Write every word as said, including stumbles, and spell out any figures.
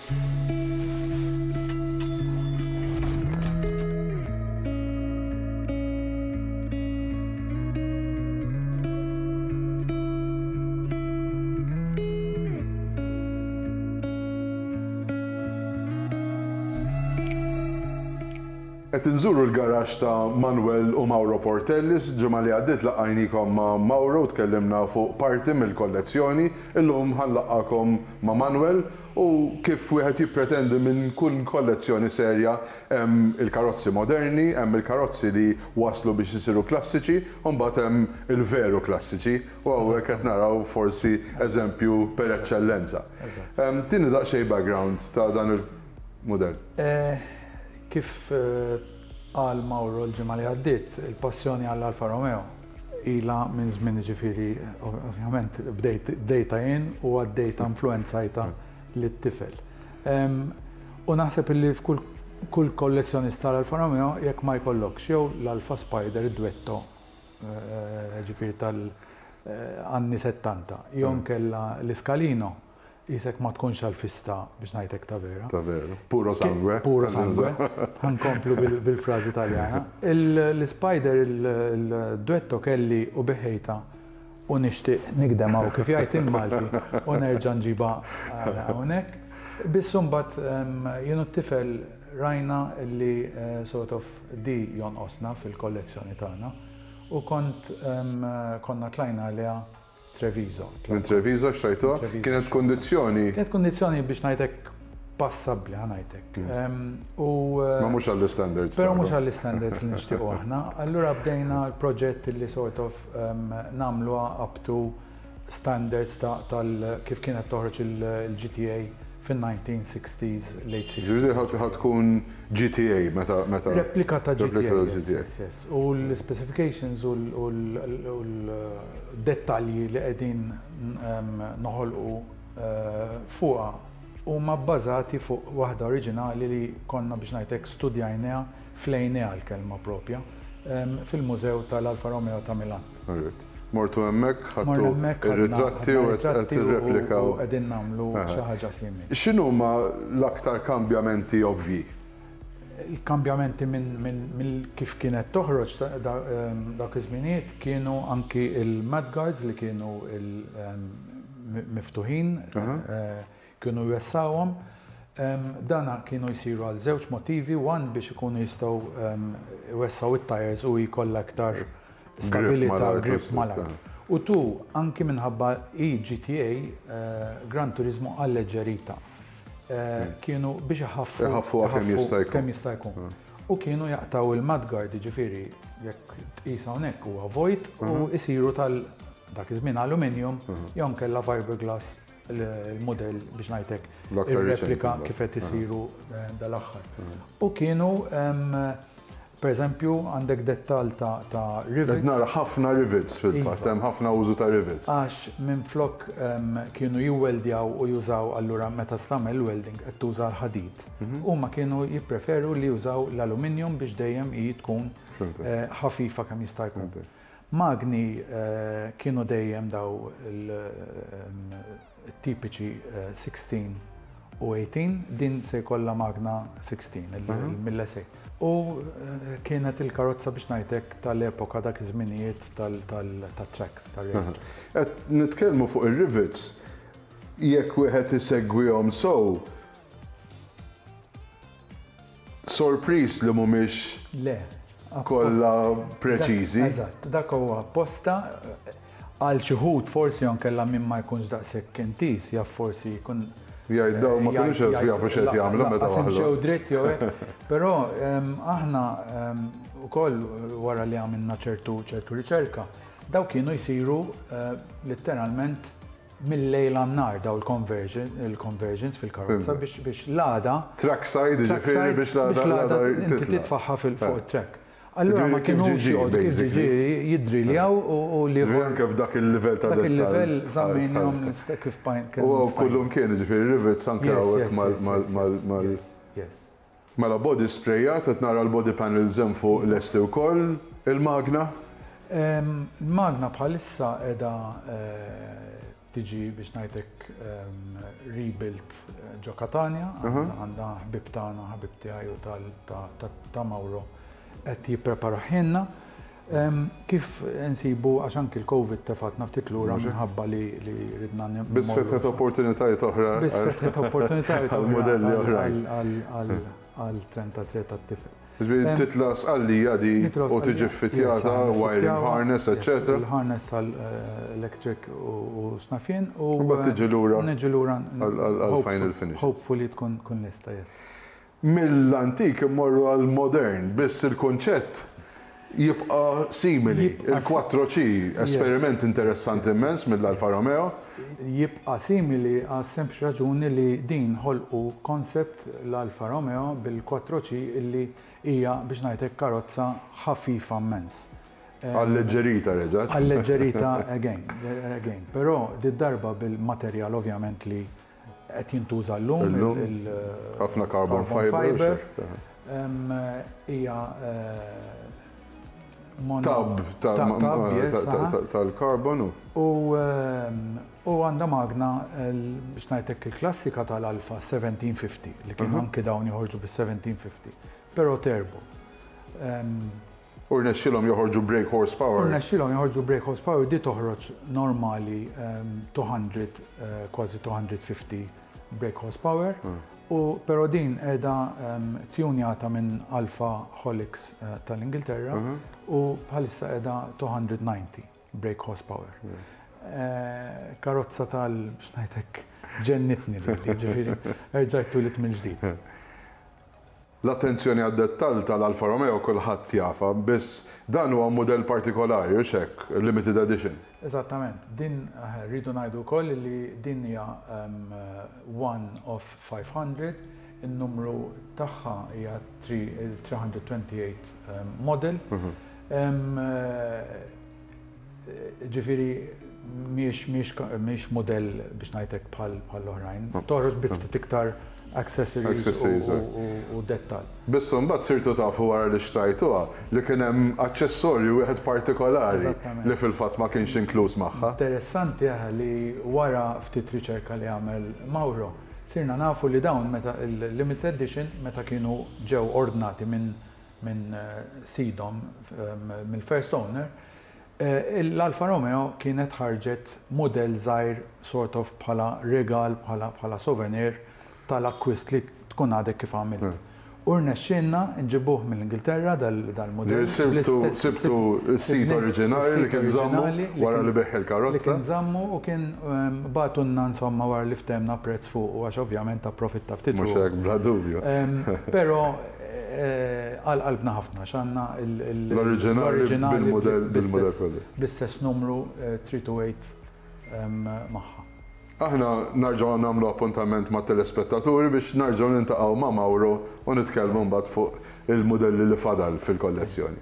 Qed inżuru l-garaxx ta' Manuel u Mauro Portellis. Ġimgħa li għaddiet laqajnikom ma' Mauro, tkellimna fuq parti mill-kollezzjoni. Illum ħa nlaqqagħkom ma' Manuel u kif wieħed jippretendi minn kull kollezzjoni serja, hemm il-karozzi moderni, hemm il-karozzi li waslu biex isiru klassiċi, u mbagħad hemm il-veru klassiċi, u hawnhekk qed naraw forsi eżempju per eċċellenza. Tini daqsxejn background ta' dan il-mudell. Eh, Kif qal Mauro l-ġimgħa li għaddiet, il-passjoni għall-Alfa Romeo ila minn żmien, ġifieri ovvjament bdejta jien u għaddejta, influenzajta lit-tifel. U naħseb illi f'kull kull kollezzjonista tal-Alfa Romeo, jekk ma jkollokx jew l-Alfa Spider Duetto, ġifieri tal-anni settanta, jew nkella l-Iscalino, jisek ma tkunx għal-fista, biex ngħidlek ta' vera. Ta' vera. Puro sangue. Puro sangue. Ħa nkomplu bil-frażi Taljana. L-Spider, il-Duetto kelli u bigħtha u nixtieq nigdem kif jgħid il-Malti u nerġa' nġiba hawnhekk. Biss imbagħad jien u t-tifel rajna li sort of di jonqosna fil-kollezzjoni tagħna u kont konna tlajna għaliha Treviso. Minn Treviso xtrajtuha? Kienet kondizzjoni? Kienet kondizzjoni, biex ngħidlek, passabbli, ħa ngħidlek. U ma mhux għall-standards. Però mhux għall-standards li nixtiequ aħna. Allura bdejna l-proġett li sort of nagħmluha up to standards tal kif kienet toħroġ il-G T A fin-nineteen sixties, late sixties. Ġifieri ħa tkun G T A meta meta. Replika ta' G T A. Yes, yes. U l-specifications u l-dettalji li qegħdin noħolqu fuqha huma bbażati fuq waħda oriġinali li konna, biex ngħidlek, studjajniha, flejniha l-kelma propja, fil-Mużew tal-Alfa Romeo ta' Milan. Mortu hemmhekk, ħadtu ir-ritratti u qed tirreplikaw. U qegħdin nagħmlu xi ħaġa simili. X'inhuma l-aktar kambjamenti ovvji? Il-kambjamenti minn kif kienet toħroġ dak iż-żminijiet kienu anki il-mudguards li kienu miftuħin, kienu jwessawhom. Dana kienu jsiru għal żewġ motivi: one, biex ikunu jistgħu jwessaw it-tires u jkollha aktar stabilità, grip mal-art. U two, anki minħabba i G T A, Gran Turismo alleggerita. Kienu biex iħaffu kemm jista' jkun. Kemm jista' jkun. U kienu jaqtaw il-mudguard, ġifieri jekk tqis hawnhekk huwa vojt, u jsiru tal dak iż-żmien aluminium jew nkella fiberglass, il-modell, biex ngħidlek, ir-replika kif qed isiru dal-aħħar. U kienu, per eżempju, għandek dettal ta', ta rivets. Nara ħafna rivets fil-fatt, hemm ħafna użu ta' rivets. Għax minn flok kienu jiweldjaw u jużaw, allura meta tagħmel welding qed tuża l-ħadid. Huma kienu jippreferu li jużaw l-aluminium biex dejjem hi tkun ħafifa kemm jista' jkun. Magni kienu dejjem daw il-tipiċi sittax u tmintax, din se jkollha magna sittax, il-Mille. U kienet il-karozza, biex ngħidlek, tal-epoka dak iż-żminijiet tal-tracks. Qed nitkellmu fuq ir-rivets, jekk wieħed isegwihom sow, sorpriż li mhumiex Le. kollha preċiżi. Eżatt, dak huwa apposta għal xi wħud, forsi kella min ma jkunx daqshekk intiż, jaf forsi jkun Jgħid daw ma kinux jafu x'qed jagħmlu meta waħlu. Xew dritt jew hekk. Però aħna wkoll wara li għamilna ċertu ċertu riċerka, daw kienu jsiru letteralment mill-lejl għan-nhar daw il-conversion, il-conversions fil-karozza biex biex l-għada. Trackside, ġifieri biex l-għada inti titfaħħa fuq it-track. Allura ma kienu kif ġiġi jidri li għaw u li. Anke f'dak il-livell ta' Dak il-livell żammejnihom kif pajn. U kullum kien, ġifieri rivets anke hawnhekk mal mal Mela body sprayat, qed nara l-body panels hemm fuq lesti wkoll, il-magna? Il-magna bħalissa qiegħda tiġi, biex ngħidlek, rebuilt ġo Katania, għandna ħbib tagħna, ħabib tiegħi u ta' Mauro qed jippreparahilna. Kif nsibu, għax anki l-Covid tefatna ftit lura minħabba li ridna. Biss fetħet opportunitajiet oħra. Biss fetħet opportunitajiet oħra. Modelli oħra. Għal trentatré tat-tifel. Titla' Sqallija di u tiġi ffitjata, wiring harness, eccetera. Il-harness tal-electric u x'naf jien. U mbagħad tiġi lura. Niġi lura. Għal-final finish. Hopefully tkun tkun lesta, yes. Mill-antik immorru għal-modern, biss il-konċett jibqa simili. Il-quattro C, esperiment interessanti immens mill-Alfa Romeo. Jibqa simili għal sempliċi raġuni li din ħolqu concept l-Alfa Romeo bil-quattro C illi hija, biex ngħidlek, karozza ħafifa immens. Alleġġerita reġgħet. Alleġġerita again, again. Però di darba bil-materjal ovvjament li qed jintuża llum. Ħafna carbon fiber. Hija tub tal-karbonu. U għandha magna, biex ngħidlek, il-klassika tal-Alfa seventeen fifty li kienu anke dawn joħorġu bis-seventeen fifty, però turbo. U rnexxilhom joħorġu brake horsepower. U rnexxilhom joħorġu brake horsepower, di toħroġ normali two hundred, kważi two hundred fifty brake horsepower. U però din qiegħda tjunjata minn Alfa Holics tal-Ingilterra u bħalissa qiegħda two hundred ninety brake horsepower. Karozza tal, biex ngħidlek, ġennitni li, ġifieri, erġajt twelidt mill-ġdid. L-attenzjoni għad-dettall tal-Alfa Romeo kulħadd jafha, biss dan huwa modell partikolari u hekk, limited edition. Eżattament, din rridu ngħidu wkoll li din hija one of five hundred, il-numru tagħha hija three hundred twenty-eight model. Ġifieri mhix mhix modell, biex ngħidlek, bħal l-oħrajn. Toħroġ bi ftit iktar accessories u dettal. Biss mbagħad sirtu tafu wara li xtrajtuha li kien hemm aċċessorju wieħed partikolari li fil-fatt ma kienx inkluż magħha. Interessanti li wara ftit riċerka li għamel Mauro, sirna nafu li dawn meta il-limited edition, meta kienu ġew ordnati minn min sidhom, mill-first owner, l-Alfa Romeo kienet ħarġet model żgħir, sort of bħala regal, bħala souvenir tal-akkwist li tkun għadek kif għamilt. U rnexxinna nġibuh mill-Ingilterra dal-modell. Sibtu sibtu s-sid oriġinali li kien żammu wara li biegħ il-karozza. Li kien żammu u kien bagħtulna, insomma, wara li ftehemna prezz fuq u għax ovvjament approfitta ftit. Mhux hekk, bla dubju. Però għal qalbna ħafna x'għandna l-oriġinali bil-modell bil-modell kollu. Bl-istess numru three two eight magħha. Aħna nerġgħu nagħmlu appuntament ma' telespettaturi biex nerġgħu niltaqgħu ma' Mauro u nitkellmu mbagħad fuq il-modelli li fadal fil-kollezzjoni.